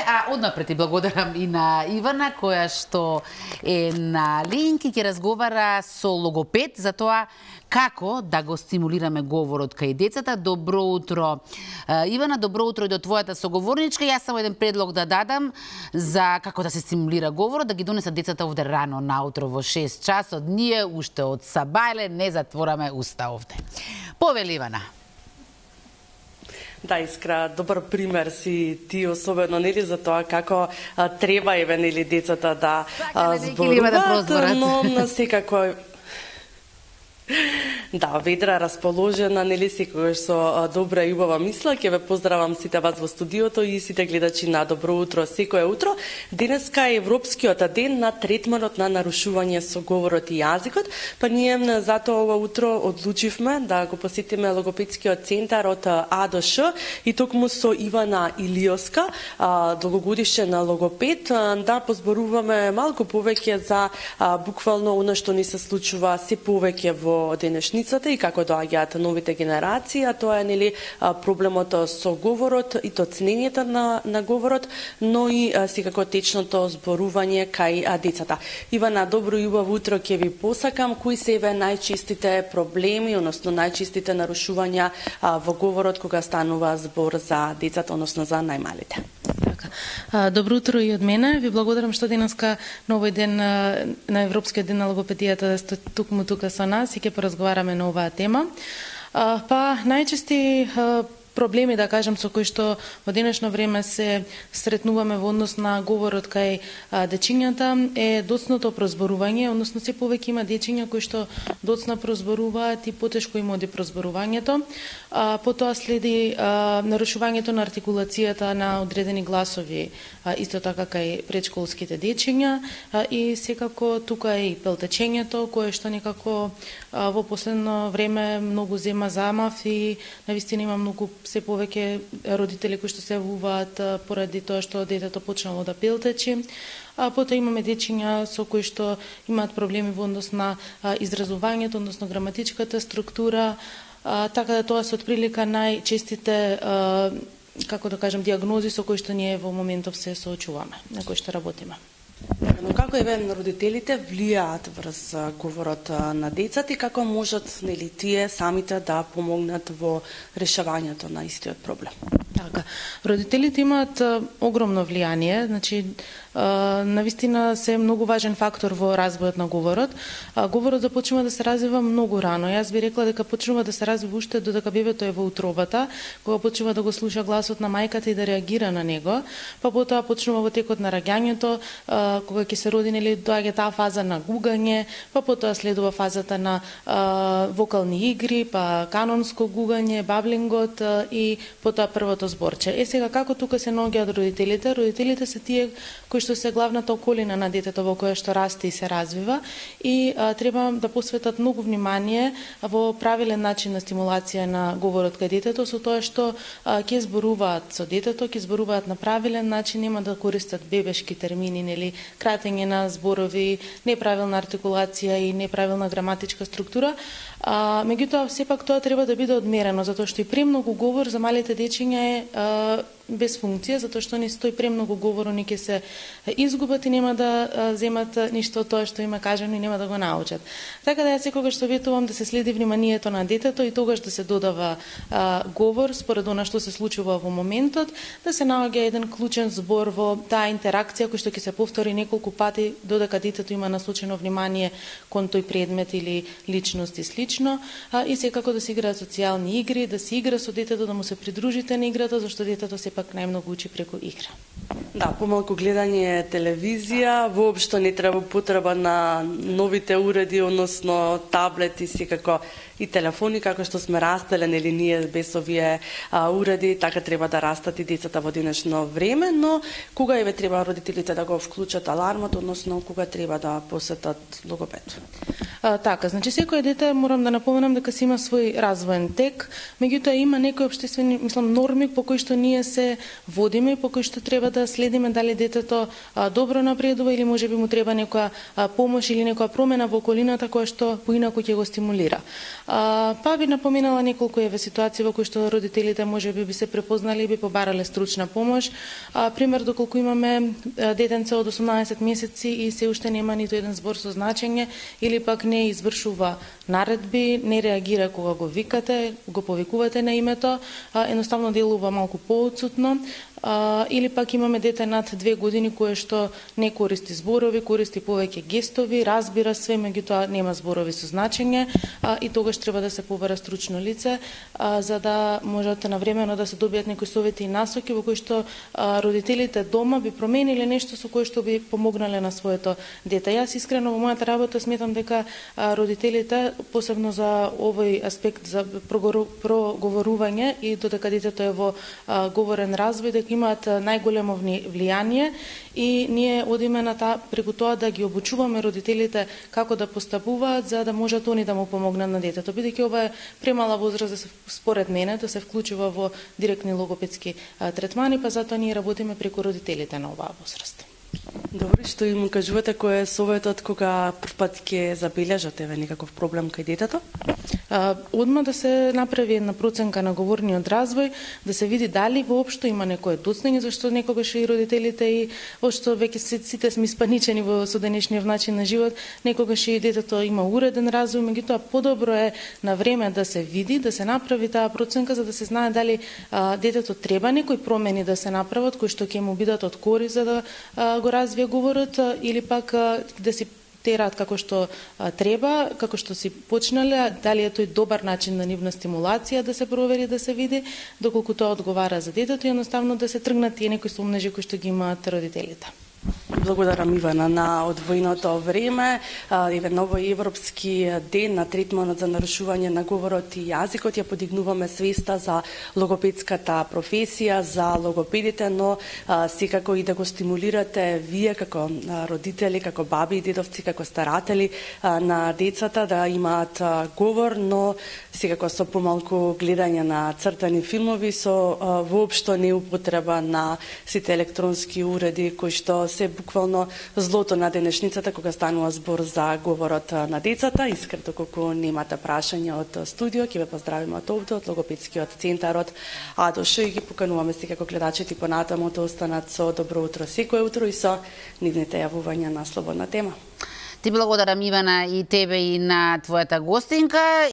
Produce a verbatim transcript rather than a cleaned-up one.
а однапред и благодарам и на Ивана, која што е на линк и ќе разговара со логопед за тоа како да го стимулираме говорот кај децата. Добро утро, Ивана, добро утро и до твојата соговорничка. Јас само еден предлог да дадам за како да се стимулира говорот, да ги донесат децата овде рано наутро во шест часот. Ние уште од сабајле не затвораме уста овде. Повели, Ивана. Да, Искра, добар пример си ти, особено нели за тоа како а, треба еве нели децата да зборуваат, да но на секако да, ведра расположена, нели секогаш со добра и убава мисла. Ќе ве поздравам сите вас во студиото и сите гледачи на Добро утро секое утро. Денеска е Европскиот ден на третманот на нарушување со говорот и јазикот, па ние затоа ова утро одлучивме да го посетиме логопедскиот центар од А до Ш и токму со Ивана Илиоска, долгогодишен логопед, да позборуваме малку повеќе за буквално она што ни се случува се повеќе во денешницата и како доаѓаат новите генерации, а тоа е нели проблемот со говорот и то ценењето на на говорот, но и секако течното зборување кај децата. Ивана, добро и убаво утро ќе ви посакам. Кои се еве најчестите проблеми, односно најчестите нарушувања во говорот кога станува збор за децата, односно за најмалите? Добро утро и од мене. Ви благодарам што денеска на овој ден на Европскиот ден на логопедијата да сте тукму тука со нас и ќе поразговараме на оваа тема. Па најчести проблеми, да кажам, со кои што во денешно време се сретнуваме во однос на говорот кај дечињата е доцното прозборување, односно се повеќе има дечиња кои што доцна прозборуваат и потешко им оди прозборувањето. А, потоа следи а, нарушувањето на артикулацијата на одредени гласови, а, исто така кај предшколските дечиња а, и секако тука е и пелтечењето, кое што некако а, во последно време многу зема замав и навистина има многу се повеќе родители кои што се јавуваат поради тоа што детето почнало да пелтечи. А потоа имаме дечиња со кои што имаат проблеми во однос на а, изразувањето, односно граматичката структура, а, така да тоа се отприлика најчестите, а, како да кажам, диагнози со кои што ние во моментов се соочуваме, на кои што работиме. Но како еве родителите влијаат врз говорот на децата и како можат нели тие самите да помогнат во решавањето на истиот проблем? Така, родителите имаат огромно влијание, значи навистина се многу важен фактор во развојот на говорот. Говорот започнува да се развива многу рано. Јас би рекла дека почнува да се развива уште додека бебето е во утробата, кога почнува да го слуша гласот на мајката и да реагира на него, па потоа почнува во текот на раѓањето, кога ќе се роди, нели доаѓа таа фаза на гугање, па потоа следува фазата на а, вокални игри, па канонско гугање, баблингот а, и потоа првото зборче. Е сега како тука се наоѓаат родителите? Родителите се тие кои што се главната околина на детето во која што расте и се развива и а, треба да посветат многу внимание во правилен начин на стимулација на говорот кај детето, со тоа што а, ќе зборуваат со детето, ќе зборуваат на правилен начин, нема да користат бебешки термини, нели кратење на зборови, неправилна артикулација и неправилна граматичка структура. А, меѓутоа, сепак тоа треба да биде одмерено, затоа што и премногу говор за малите дечиња е а, без функција, затоа што не стои премногу говор, они ќе се изгубат и нема да а, земат ништо од тоа што има кажано и нема да го научат. Така да јас секогаш советувам да се следи вниманието на детето и тогаш да се додава а, говор според она што се случува во моментот, да се наоѓа еден клучен збор во таа интеракција кој што ќе се повтори неколку пати додека детето има насочено внимание кон тој предмет или личност и слично, а, и секако да се играат социјални игри, да се игра со детето, да му се придружите на играта, зашто детето се пак најмногу учи преку игра. Да, помалку гледање телевизија, воопшто не треба потреба на новите уреди, односно таблети, секако и телефони, како што сме растеле, нели ние без овие а, уреди, така треба да растат и децата во денешно време, но кога еве треба родителите да го вклучат алармот, односно кога треба да посетат логопед? А, така, значи секој дете, морам да напоменам дека си има свој развоен тек, меѓутоа има некои општествени, мислам, норми по кои што ние се водиме и по кои што треба да следиме дали детето а, добро напредува или можеби му треба некоја а, помош или некоја промена во околината која што поинаку ќе го стимулира. А, па би напоминала неколку еве ситуации во кои што родителите можеби би се препознали и би побарале стручна помош. А, пример, доколку имаме детенце од осумнаесет месеци и се уште нема ниту еден збор со значење или пак не извршува наредби, не реагира кога го викате, го повикувате на името, а, едноставно делува малку поотсутно. Uh, или пак имаме дете над две години кое што не користи зборови, користи повеќе гестови, разбира све, меѓутоа нема зборови со значење, uh, и тогаш треба да се побара стручно лице, uh, за да можат навремено да се добијат некои совети и насоки во кои што uh, родителите дома би промениле нешто со кое што би помогнале на своето дете. Јас искрено во мојата работа сметам дека uh, родителите, посебно за овој аспект за проговорување и додека детето е во uh, говорен развој, дека имаат најголемо влијание и ние одиме на таа преку тоа да ги обучуваме родителите како да постапуваат за да можат они да му помогнат на детето. Бидејќи ова е премала возраст да се, според мене, да се вклучува во директни логопедски а, третмани, па затоа ние работиме преку родителите на оваа возраст. Добро, што им кажувате кој е советот кога првпат ќе забележате еве некаков проблем кај детето? А, одма да се направи една проценка на говорниот развој, да се види дали воопшто има некое доцнење, зашто некогаш и родителите и општо веќе сите сме испаничени во соденешниот начин на живот, некогаш и детето има уреден развој, меѓутоа подобро е на време да се види, да се направи таа проценка за да се знае дали а, детето треба некои промени да се направат кои што ќе му бидат од корист за да а, го развие говорот, а, или пак а, да си терат како што а, треба, како што си почнале, дали е тој добар начин на нивна стимулација да се провери, да се види, доколку тоа одговара за детето и едноставно да се тргнат тие некои сомнежи кои што ги имаат родителите. Благодарам, Ивана, на одвоеното време. Еве новој Европски ден на третманот за нарушување на говорот и јазикот ја подигнуваме свеста за логопедската професија, за логопедите, но а, секако и да го стимулирате вие како родители, како баби и дедовци, како старатели а, на децата да имаат а, говор, но секако со помалку гледање на цртани филмови, со а, воопшто неупотреба на сите електронски уреди кои што се буквално злото на денешницата кога станува збор за говорот на децата. Искрено колку немате прашања од студио, ќе ве поздравиме од овде, од логопедскиот центар од АДОШ и ги покануваме секако гледачите понатаму да останат со добро утро секој утро и со нивните јавувања на слободна тема. Ти благодарам, Ивана, и тебе и на твојата гостинка.